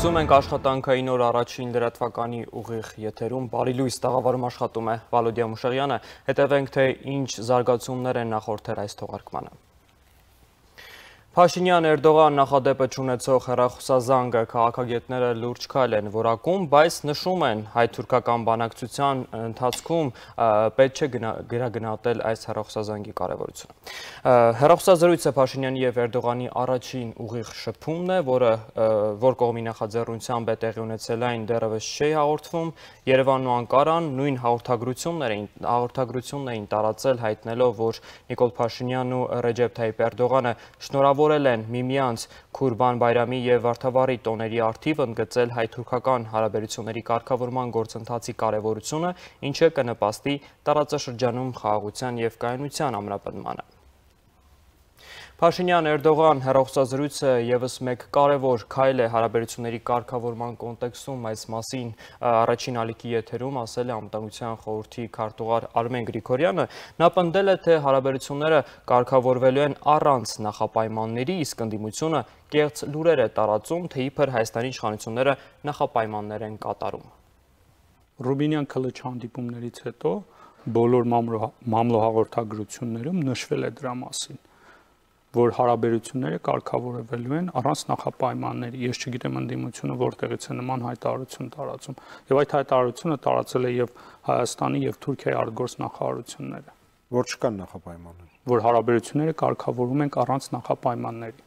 Լսում ենք աշխատանքային օր առաջին լրատվականի ուղիղ եթերում բարի լույս տաղավարում աշխատում է Վալոդիա Մուշեղյանը, հետևենք թե ինչ զարգացումներ են նախորդել այս թողարկմանը։ Փաշինյան-Էրդողան նախադեպը չունեցող հեռախոսազանգը քաղաքագետները լուրջ քայլ են որակում, բայց նշում են հայ-թուրքական բանակցության ընթացքում պետք չէ գրագնահատել այս հեռախոսազանգի կարևորությունը։ Հեռախոսազրույցը Փաշինյանի եւ Էրդողանի առաջին ուղիղ շփումն է, որ կողմի նախաձեռնությամբ է տեղի ունեցել այն դեռևս չի հաղորդվում, Երևանն ու Անկարան նույն հաղորդագրությունն էին տարածել, հայտնելով, որ Նիկոլ Փաշինյանն ու Ռեջեփ Թայիփ Էրդողանը շնորհավորել են միմյանց Քուրբան Բայրամի եւ Վարդավառի տոների առթիվ, ընդգծել հայ-թուրքական հարաբերությունների կարգավորման գործընթացի կարևորությունը, ինչը կնպաստի տարածաշրջանում խաղաղության եւ կայունության ամրապնդմանը։ Փաշինյան-Էրդողան հեռախոսազրույցը ևս մեկ կարևոր քայլ է հարաբերությունների կարգավորման կոնտեքստում, այս մասին առաջին ալիքի եթերում ասել է Անվտանգության խորհրդի քարտուղար Արմեն Գրիգորյանը, նա պնդել է, թե հարաբերությունները կարգավորվելու են առանց նախապայմանների, իսկ ընդդիմությունը կեղծ լուրեր է տարածում, թե իբր Հայաստանի իշխանությունները նախապայմաններ են կատարում։ Ռուբինյան Քլիչ հանդիպումներից հետո բոլոր մամլոհաղորդագրություններում նշվել է դրա մասին, որ հարաբերությունները կարգավորվելու են առանց նախապայմանների։ Ես չգիտեմ ընդդիմությունը որտեղից է նման հայտարարություն տարածում, եւ այդ հայտարարությունը տարածել է եւ Հայաստանի եւ Թուրքիայի արտգործնախարարությունները, որ չկան նախապայմաններ, որ հարաբերությունները կարգավորվում են առանց նախապայմանների։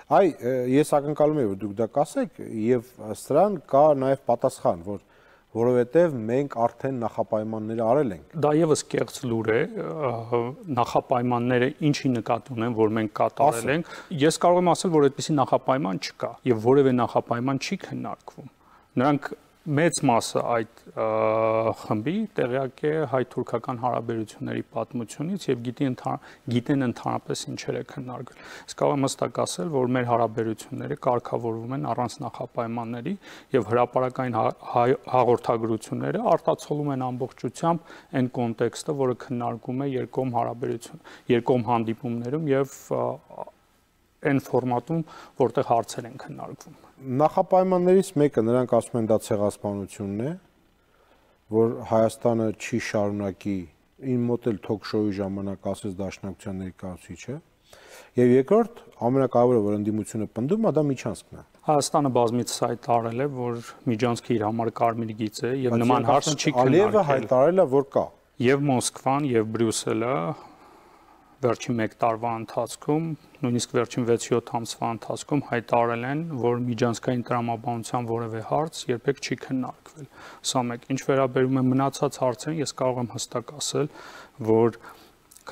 Այ ես ակնկալում եմ, որ դուք դա կասեք, եւ սրան կա նաեւ պատասխան, որովհետև մենք արդեն նախապայմանները արել ենք։ Դա եւս կեղծ լուր է, նախապայմանները ինչի նկատի ունեն, որ մենք կատարել ենք։ Ես կարող եմ ասել, որ այդպիսի նախապայման չկա եւ որևէ նախապայման չի քննարկվում։ Նրանք մեծ մասը այդ խմբի տեղյակ է հայ-թուրքական հարաբերությունների պատմությունից եւ գիտեն ընդհանրապես ինչեր է քննարկվել։ Իսկ կարող եմ հստակ ասել, որ մեր հարաբերությունները կարգավորվում են առանց նախապայմանների եւ հրապարակային հաղորդագրությունները արտացոլում են ամբողջությամբ այն կոնտեքստը, որը քննարկում է երկկողմ հանդիպումներում եւ այն ֆորմատում, որտեղ հարցեր են քննարկվում։ Նախապայմաններից մեկը նրանք ասում են դա ցեղասպանությունն է, որ Հայաստանը չի շարունակի, իմ մոտ էլ թոք-շոուի ժամանակ ասեց Դաշնակցության ներկայացուցիչը, եւ երկրորդ ամենակարևորը, որ ընդդիմությունը պնդում է, դա միջանցքն է։ Հայաստանը բազմիցս հայտարարել է, որ միջանցքը իր համար կարմիր գիծ է եւ նման հարց չի քննարկել։ Ալիևը հայտարարել է, որ կա։ Եվ Մոսկվան եւ Բրյուսելը վերջին 1 տարվա ընթացքում, նույնիսկ վերջին 6-7 ամսվա ընթացքում հայտարարել են, որ միջանցքային տրամաբանության որևէ հարց երբեք չի քննարկվել։ Սա մեկ, ինչ վերաբերում է մնացած հարցերին, ես կարող եմ հստակ ասել, որ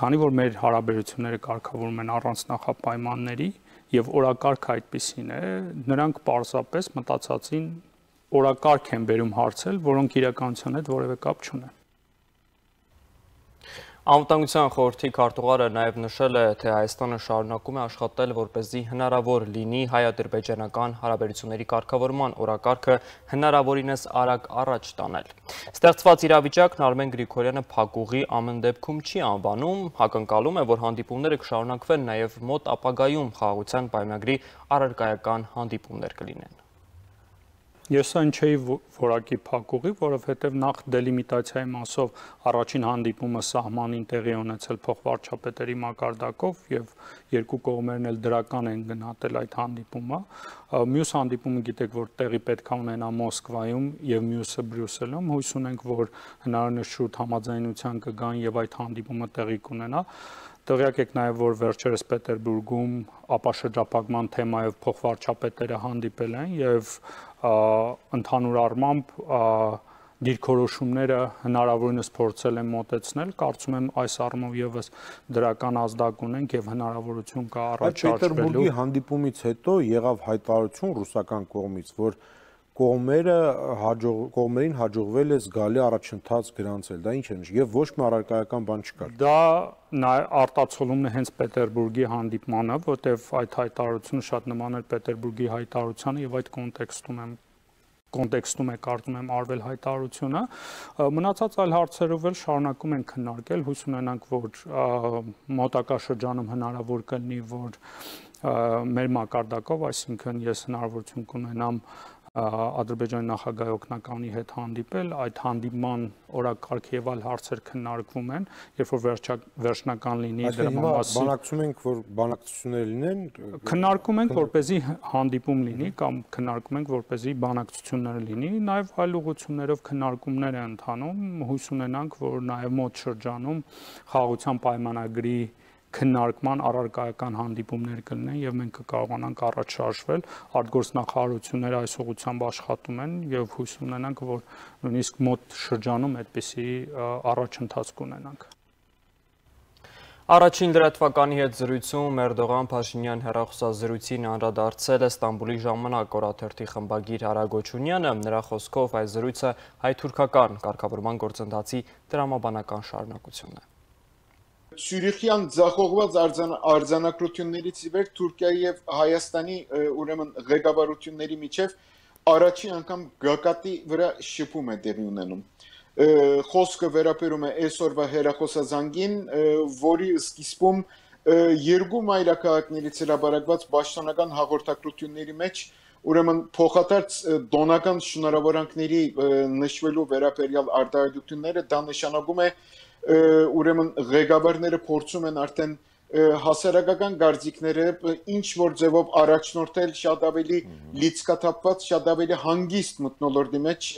քանի որ մեր հարաբերությունները կարգավորվում են առանց նախապայմանների եւ օրակարգը այդպիսին է, նրանք պարզապես մտածածին օրակարգ են բերում հարցեր, որոնք իրականության հետ որևէ կապ չունեն։ Անվտանգության խորհրդի քարտուղարը նաև նշել է, թե Հայաստանը շարունակում է աշխատել, որպեսզի հնարավոր լինի հայ-ադրբեջանական հարաբերությունների կարգավորման օրակարգը հնարավորինս արագ առաջ տանել։ Ստեղծված իրավիճակն Արմեն Գրիգորյանը փակուղի ամեն դեպքում չի անվանում, ակնկալում է, որ հանդիպումները կշարունակվեն նաև մոտ ապագայում խաղաղության պայմանագրի առարկայական հանդիպումներ կլինեն։ Ես այն չէի որակի փակուղի, որովհետև նախ դելիմիտացիայի մասով առաջին հանդիպումը սահմանին տեղի ունեցել փոխվարչապետերի մակարդակով եւ երկու կողմերն էլ դրական են գնահատել այդ հանդիպումը։ Մյուս հանդիպումը գիտեք, որ տեղի պետք է ունենա Մոսկվայում եւ մյուսը Բրյուսելում։ Հույս ունենք, որ հնարավորինս շուտ համաձայնության կգան եւ այդ հանդիպումը տեղի կունենա։ Տեղյակ եք նաև, որ վերջերս Պետերբուրգում ապաշրջափակման թեմայով փոխվարչապետերը հանդիպել են եւ ընդհանուր առմամբ դիրքորոշումները հնարավորինս փորձել են մոտեցնել, կարծում եմ այս առումով եւս դրական ազդակ ունենք եւ հնարավորություն կա առաջարկվելու։ Պետերբուրգի հանդիպումից հետո եղավ հայտարարություն ռուսական կողմից, որ կողմերին հաջողվել է զգալի առաջընթաց գրանցել, դա ինչ է նշանակում եւ ոչ մի առարկայական բան չկար։ Դա արտացոլումն է հենց Պետերբուրգի հանդիպմանը, որտեղ այդ հայտարարությունը շատ նման էր Պետերբուրգի հայտարարությանը եւ այդ կոնտեքստում է կարծում եմ արվել հայտարարությունը, մնացած այլ հարցերով էլ շարունակում են քննարկել, հույս ունենանք, որ մոտակա շրջանում հնարավոր կլինի, որ մեր մակարդակով, այսինքն ես հնարավորություն կունենամ Ադրբեջանի նախագահի օգնականի հետ հանդիպել, այդ հանդիպման օրակարգ եւ այլ հարցեր քննարկվում են, երբ որ վերջնական լինի դրա մասին։ Բանակցում ենք, որ բանակցություններ լինեն, քննարկում ենք, որպեսզի հանդիպում լինի կամ քննարկում ենք, որպեսզի բանակցություններ լինի, նաեւ այլ ուղղություններով քննարկումներ են ընթանում, հույս ունենանք, որ նաեւ մոտ շրջանում խաղաղության պայմանագրի քննարկման առարկայական հանդիպումներ կլինեն եւ մենք կկարողանանք առաջ շարժվել, արտգործնախարարությունները այս ուղղությամբ աշխատում են եւ հույս ունենանք, որ նույնիսկ մոտ շրջանում այդպիսի առաջընթաց կունենանք։ Առաջին լրատվականի հետ զրույցում Էրդողան-Փաշինյան հեռախոսազրույցին անդրադարձել է Ստամբուլի ժամանակ օրաթերթի խմբագիր Արա Գոչունյանը, նրա խոսքով այս զրույցը հայ-թուրքական կարգավորման գործընթացի տրամաբանական շարունակությունն է։ Ցյուրիխյան ձախողված արձանագրություններից ի վեր Թուրքիայի եւ Հայաստանի ուրեմն ղեկավարությունների միջև առաջին անգամ գագաթի վրա շփում է տեղի ունենում։ Խոսքը վերաբերում է այսօրվա հեռախոսազանգին, որի սկիզբում երկու մայրաքաղաքներից հրապարակված պաշտոնական հաղորդակցությունների մեջ ուրեմն փոխադարձ դոնական շնորհավորանքների նշվելու վերաբերյալ արտահայտությունները դա նշանակում է ուրեմն ղեկավարները փորձում են արդեն հասարակական գործիքները ինչ որ ձևով առաջնորդել շատ ավելի լիցքաթափված, շատ ավելի հանգիստ մթնոլորտի մեջ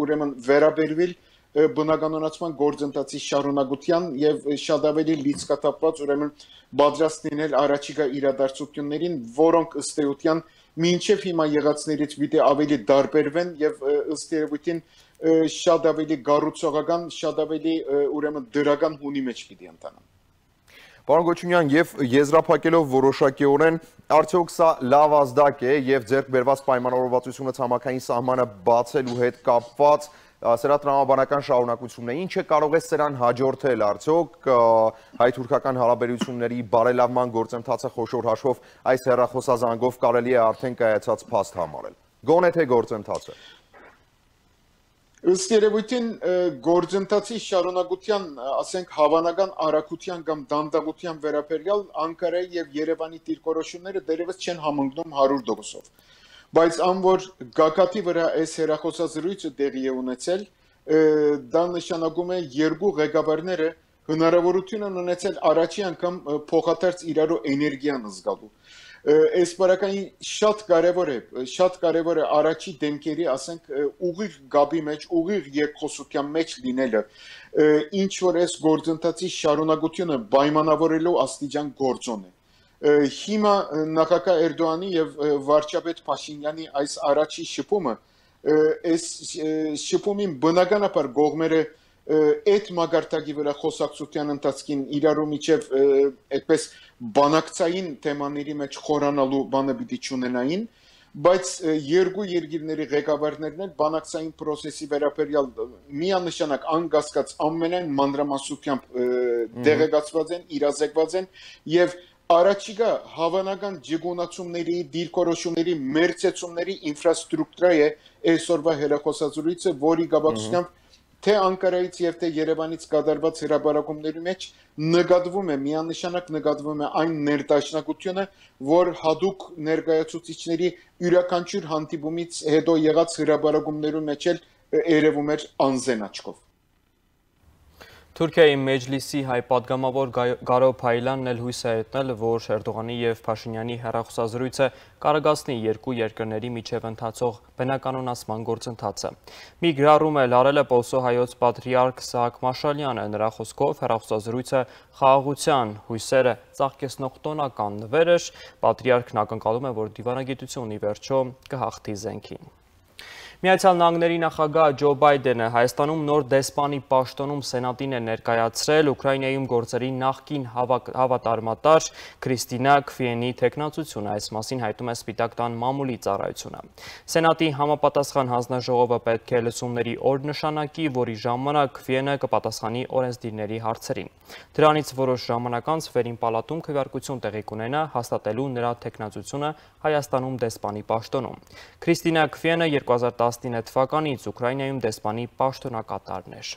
ուրեմն վերաբերվել բնականոնացման գործընթացի շարունակության եւ շատ ավելի լիցքաթափված ուրեմն պատրաստ լինել առաջիկա իրադարձություններին, որոնք ըստ էության մինչև հիմա եղածներից պիտի ավելի դարբերվեն եւ ըստ երևույթին շատ ավելի գառուցողական, շատ ավելի ուրեմն դրական հունի մեջ պիտի ընթանան։ Պարոն Գոչունյան, եւ եզրափակելով որոշակիորեն, արդյոք սա լավ ազդակ է եւ ձեռք բերված պայմանավորվածությունը ցամաքային սահմանը բացելու հետ կապված սրա տրամաբանական շարունակությունն է, ինչը կարող է սրան հաջորդել արդյոք հայ-թուրքական հարաբերությունների բարելավման գործընթացը խոշոր հաշվով այս հեռախոսազանգով կարելի է արդեն կայացած փաստ համարել։ Գոնե թե գործընթացը։ Ըստ երևույթին գործընթացի շարունակության, ասենք հավանական արագության կամ դանդաղության վերաբերյալ Անկարայի եւ Երևանի դիրքորոշումները դեռևս չեն համընկնում 100%-ով։ Բայց անոր գագաթի վրա այս հեռախոսազրույցը տեղի է ունեցել, դա նշանակում է երկու ղեկավարները հնարավորություն են ունեցել առաջի անգամ փոխադարձ իրարու էներգիան զգալու։ Այս բարակային շատ կարևոր է առաջի դեմքերի, ասենք, ուղիղ գաբի մեջ, ուղիղ երկխոսության մեջ լինելը, ինչ որ այս գործընթացի շարունակությունը պայմանավորելու աստիճան գործոն է։ Հիմա նախագահ Էրդողանի եւ վարչապետ Փաշինյանի այս առաջի շփումը, այս շփումին բնականաբար կողմերը այդ մագարտակի վրա խոսակցության ընթացքին իրարու միջև այդպես բանակցային թեմաների մեջ խորանալու բանը պիտի չունենային, բայց երկու երկիրների ղեկավարներն էլ բանակցային process-ի վերաբերյալ միանշանակ անկասկած ամենայն մանրամասնությամբ դեղեկացված են, իրազեկված են եւ առաջիկա հավանական ջգունացումների, դիրքորոշումների, մերձեցումների ինֆրաստրուկտուրա է այսօրվա հեռախոսազրույցը, որի գաբակցությամբ թե Անկարայից եւ թե Երևանից կատարված հրապարակումների մեջ նկատվում է, միանշանակ նկատվում է այն ներդաշնակությունը, որ հadoop ներկայացուցիչների յուրաքանչյուր հանդիպումից հետո եղած հրապարակումներում մեջ էլ երևում էր անզեն աչքով։ Թուրքիայի Մեջլիսի հայ պատգամավոր Գարո Փայլյանն էլ հույս է հայտնել, որ Էրդողանի եւ Փաշինյանի հեռախոսազրույցը կարողացնի երկու երկրների միջև ընթացող բնականոնացման գործընթացը։ Մի գրառում էլ արել է Պոլսո հայոց պատրիարք Սահակ Մաշալյանը, նրա խոսքով հեռախոսազրույցը խաղաղության հույսերը ծաղկեցնող տոնական նվեր էր, պատրիարքն ակնկալում է, որ դիվանագիտությունն ի վերջո կհաղթի զենքին։ Միացյալ Նահանգների նախագահ Ջո Բայդենը Հայաստանում նոր դեսպանի պաշտոնում Սենատին է ներկայացրել Ուկրաինայում գործերի նախկին հավատարմատար Քրիստինա Քվիենի թեկնածությունը, այս մասին հայտում է Սպիտակ տան մամուլի ծառայությունը։ Սենատի համապատասխան հանձնաժողովը պետք է լսումների օր նշանակի, որի ժամանակ Քվիենը կպատասխանի օրենսդիրների հարցերին։ Դրանից որոշ ժամանակ անց վերին պալատում քվեարկություն տեղի կունենա հաստատելու նրա թեկնածությունը Հայաստանում դեսպանի պաշտոնում։ Քրիստինա Քվիենը 2019 թվականից Ուկրաինայում դեսպանի պաշտոնակատարն էր։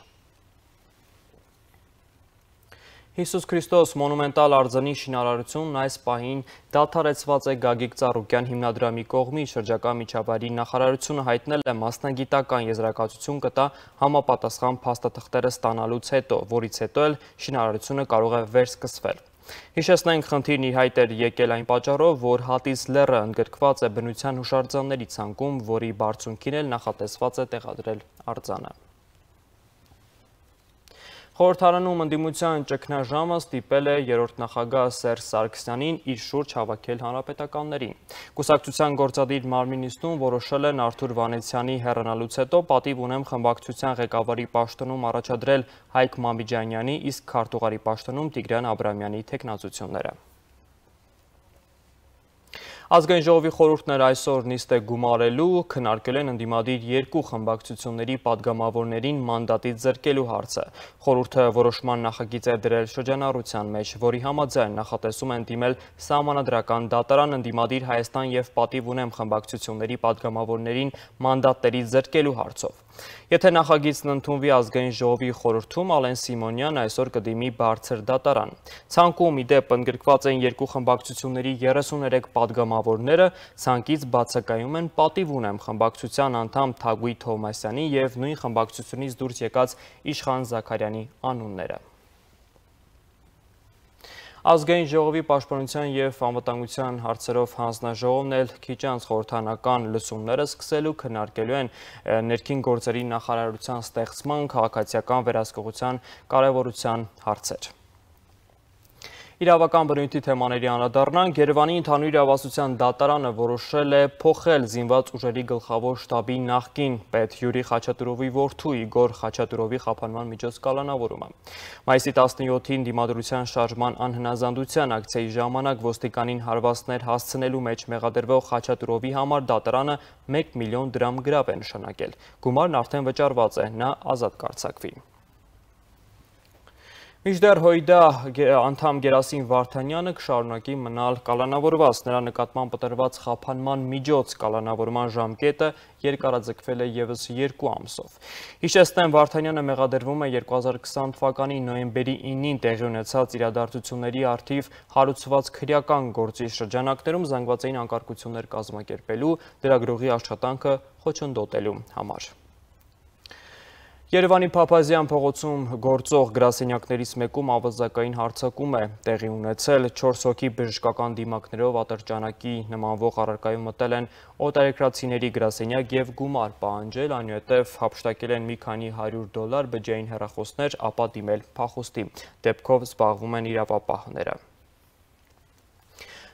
Հիսուս Քրիստոս մոնումենտալ արձանի շինարարությունն այս պահին դադարեցված է Գագիկ Ծառուկյան հիմնադրամի կողմից շրջակա միջավայրի նախարարությունը հայտնել է մասնագիտական եզրակացություն կտա համապատասխան փաստաթղթերը ստանալուց հետո, որից հետո էլ շինարարությունը կարող է վերսկսվել։ Հիշեցնենք, խնդիրն իր հայտ էր եկել այն պատճառով, որ Հատիս լեռը ընդգրկված է բնության հուշարձանների ցանկում, որի բարձունքին էլ նախատեսված է տեղադրել արձանը։ Խորհրդարանում ընդդիմության ճգնաժամը ստիպել է երրորդ նախագահ Սերժ Սարգսյանին իր շուրջ հավաքել հանրապետականներին։ Կուսակցության գործադիր մարմնի նիստում որոշել են Արթուր Վանեցյանի հեռանալուց հետո պատիվ ունեմ խմբակցության ղեկավարի պաշտոնում առաջադրել Հայկ Մամիջանյանի, իսկ քարտուղարի պաշտոնում Տիգրան Աբրամյանի թեկնածությունները։ Ազգային ժողովի խորհուրդն էր այսօր նիստ է գումարելու, քննարկել են ընդդիմադիր երկու խմբակցությունների падգամավորներին մանդատից զրկելու հարցը։ Խորհուրդը որոշման նախագիծ է դրել շրջանառության մեջ, որի համաձայն նախատեսում են դիմել սահմանադրական դատարան ընդդիմադիր Հայաստան և պատիվ ունեմ խմբակցությունների падգամավորներին մանդատներից զրկելու հարցով։ Եթե նախագիծն ընդունվի ազգային ժողովի խորհրդում, Ալեն Սիմոնյան այսօր կդիմի բարձր դատարան։ Ցանկում իդեպ ընդգրկված են երկու խմբակցությունների 33 падգամավորները, ցանկից բացակայում են պատիվ ունեմ խմբակցության անդամ Թագուհի Թովմասյանի և նույն խմբակցությունից դուրս եկած Իշխան Զաքարյանի անունները։ Ազգային ժողովի պաշտպանության և անվտանգության հարցերով հանձնաժողովն էլ քիչ անց խորհրդարանական լսումները սկսելու քննարկելու են ներքին գործերի նախարարության ստեղծման քաղաքացիական վերահսկողության կարևորության հարցեր։ Իրավական բնույթի թեմաների անդրադառնանք, Երևանի ընդհանուր իրավասության դատարանը որոշել է փոխել զինված ուժերի գլխավոր շտաբի նախկին պետ Յուրի Խաչատուրովի որդու Իգոր Խաչատուրովի խափանման միջոց կալանավորումը։ Մայիսի 17-ին դիմադրության շարժման անհնազանդության ակցիայի ժամանակ ոստիկանին հարվածներ հասցնելու մեջ մեղադրվող Խաչատուրովի համար դատարանը 1 միլիոն դրամ գրավ է նշանակել։ Գումարն արդեն վճարված է, նա ազատ կարձակվի։ Մինչդեռ ՀՅԴ անդամ Գերասիմ Վարդանյանը կշարունակի մնալ կալանավորված, նրա նկատմամբ տրված խափանման միջոց կալանավորման ժամկետը երկարաձգվել է ևս 2 ամսով։ Հիշեցնեմ, Վարդանյանը մեղադրվում է 2020 թվականի նոյեմբերի 9-ին տեղի ունեցած իրադարձությունների առթիվ հարուցված քրեական գործի շրջանակներում զանգվածային անկարգություններ կազմակերպելու, լրագրողի աշխատանքը խոչընդոտելու համար։ Երևանի Փափազյան փողոցում գործող գրասենյակներից մեկում ավազակային հարձակում է տեղի ունեցել, 4 հոգի բժշկական դիմակներով ատրճանակի նմանվող առարկայում մտել են օտարերկրացիների գրասենյակ և գումար պահանջել, այնուհետև հափշտակել են մի քանի $100 բջջային հեռախոսներ, ապա դիմել փախուստի, դեպքով զբաղվում են իրավապահները։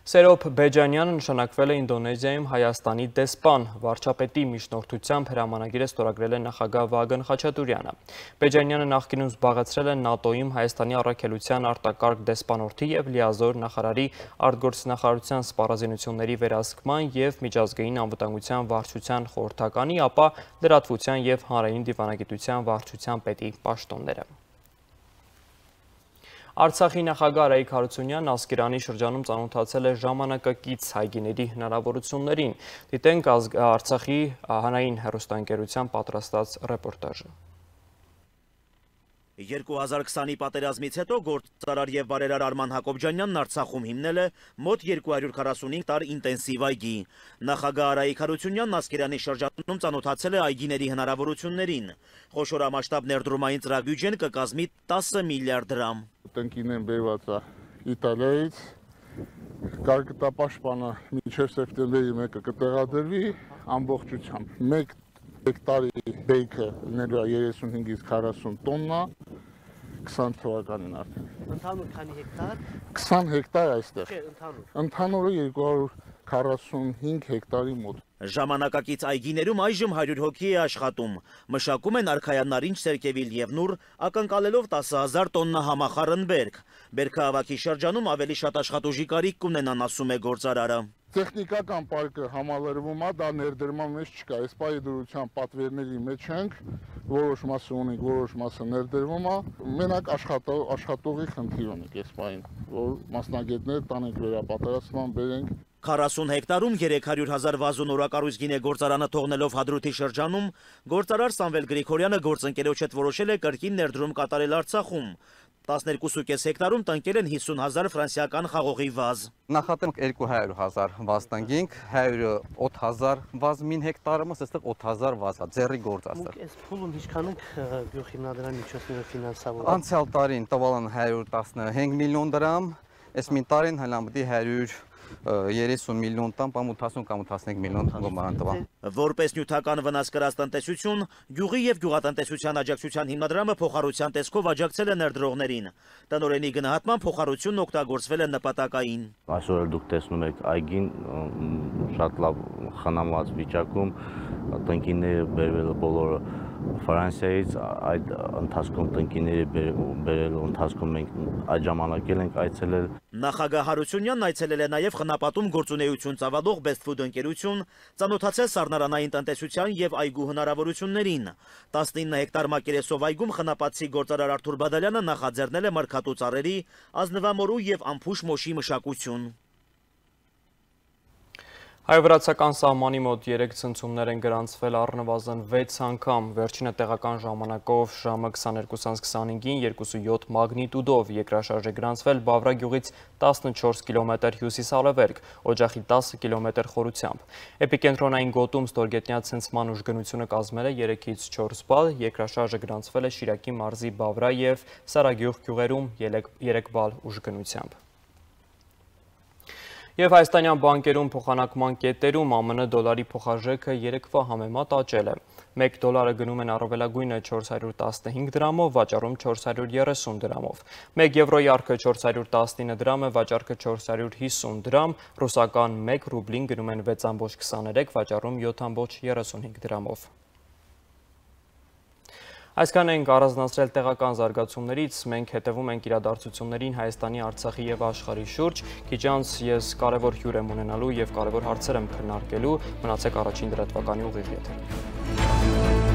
Սերոբ Բեջանյանը նշանակվել է Ինդոնեզիայում Հայաստանի դեսպան, վարչապետի միջնորդությամբ հրամանագիր է ստորագրել է նախագահ Վագն Խաչատուրյանը։ Բեջանյանը նախկինում զբաղեցրել է ՆԱՏՕ-ում Հայաստանի առաքելության արտակարգ դեսպանորդի և լիազոր նախարարի արտգործնախարարության սպառազինությունների վերահսկման և միջազգային անվտանգության վարչության խորհրդականի, ապա լրատվության և հանրային դիվանագիտության վարչության պետի պաշտոնները։ Արցախի նախագահ Արայիկ Հարությունյանն Ասկերանի շրջանում ծանոթացել է ժամանակակից հայգիների հնարավորություններին։ Դիտենք Արցախի հանրային հեռուստաընկերության պատրաստած ռեպորտաժը։ 2020-ի պատերազմից հետո գործարար և բարերար Արման Հակոբյանյանն Արցախում հիմնել է մոտ 245 տար ինտենսիվ այգի։ Նախագահ Արայիկ Հարությունյանն Ասկերանի շրջանում ծանոթացել է այգիների հնարավորություններին։ Խոշորամասշտաբ ներդրումային ծրագրույթեն կկազմի 10 միլիարդ դրամ։ Տնկին են բերված է Իտալիայից, կարգտապաշտպանը մինչև սեպտեմբերի 1-ը կտեղադրվի ամբողջությամբ։ 1 հեկտարի բեյքը լինելու է 35-ից 40 տոննա 20 թվականին արդեն։ Ընդհանուր քանի հեկտար? 20 հեկտար այստեղ։ Չէ, ընդհանուր։ Ընդհանուրը 245 հեկտարի մոտ։ Ժամանակակից այգիներում այժմ 100 հոգի է աշխատում։ Մշակում են արքայանարինջ, սերկևիլ և նուր, ակնկալելով 10,000 տոննա համախառն բերք։ Բերքահավաքի շրջանում ավելի շատ աշխատուժի կարիք կունենան, ասում է գործարարը։ Տեխնիկական պարկը համալրվում է, դա ներդրման մեջ չկա։ Այս պահի դրության պատվերների մեջ ենք, որոշ մասը ունենք, որոշ մասը ներդրվում է։ Մենակ աշխատողի խնդիր ունենք այս պահին, որ մասնագետներ տանենք վերապատրաստման, բերենք։ 40 հեկտարում 300,000 վազոն օրակառույց գինե գործարանը թողնելով Հադրութի շրջանում, գործարար Սամվել Գրիգորյանը գործընկերոջ հետ որոշել է կրկին ներդրում կատարել Արցախում։ 12.5 հեկտարում տնկել են 50,000 ֆրանսիական խաղողի վազ։ Նախատենք 200,000 վազ տնկինք, 100,000 վազ մին հեկտարը, այստեղ 8,000 վազ է, ձեռի գործ է։ Մենք այս փուլում ինչքան ենք գյուղհիմնադրամի միջոցներով ֆինանսավորել։ Անցյալ տարին տվալ են 115 միլիոն դրամ, այս մին տարին հլամտի 130 միլիոն տան, կամ 80 կամ 15 միլիոն գոման տվա։ Որպես նյութական վնաս կրած տնտեսություն, գյուղի եւ գյուղատնտեսության աջակցության հիմնադրամը փոխառության տեսքով աջակցել է ներդրողներին։ Տնօրենի գնահատման փոխառությունն օգտագործվել է նպատակային։ Այսօր էլ դուք տեսնում եք այգին շատ լավ խնամված վիճակում, տնկիները բերվել բոլորը Ֆրանսիայից, այդ ընթացքում տնկիների բերելու ընթացքում մենք այդ ժամանակ ենք այցելել։ Նախագահ Հարությունյանն այցելել է նաև խնապատում գործունեություն ծավալող Best Food ընկերություն, ծանոթացել սառնարանային տնտեսության եւ այգու հնարավորություններին։ 19 հեկտար մակերեսով այգում խնապատցի գործարար Արթուր Բադալյանը նախաձեռնել է մրգատու ծառերի, ազնվամորու եւ ամփուշ մոշի մշակություն։ Հայ-վրացական սահմանի մոտ 3 ցնցումներ են գրանցվել առնվազն 6 անգամ, վերջինը տեղական ժամանակով ժամը 22:25-ին 2.7 մագնիտուդով, երկրաշարժ է գրանցվել Բավրա գյուղից 14 կիլոմետր հյուսիս-արևելք, օջախի 10 կիլոմետր խորությամբ։ Էպիկենտրոնային գոտում ստորգետնյա ցնցման ուժգնությունը կազմել է 3-ից 4 բալ, երկրաշարժը գրանցվել է Շիրակի մարզի Բավրա եւ Սարագյուղ գյուղերում 3 բալ ուժգնությամբ։ Եվ հայաստանյան բանկերում փոխանակման կետերում ԱՄՆ դոլարի փոխարժեքը երեկվա համեմատ աճել է։ 1 դոլարը գնում են առավելագույնը 415 դրամով, վաճառում 430 դրամով։ 1 եվրոյի արքը 419 դրամ է, վաճառքը 450 դրամ, ռուսական 1 ռուբլին գնում են 6.23, վաճառում 7.35 դրամով։ Այսքան ենք առանձնացրել տեղական զարգացումներից, մենք հետևում ենք իրադարձություններին Հայաստանի, Արցախի եւ աշխարհի շուրջ, քիչ անց ես կարևոր հյուր եմ ունենալու եւ կարևոր հարցեր եմ քննարկելու, մնացեք առաջին լրատվականի ուղիղ եթերում։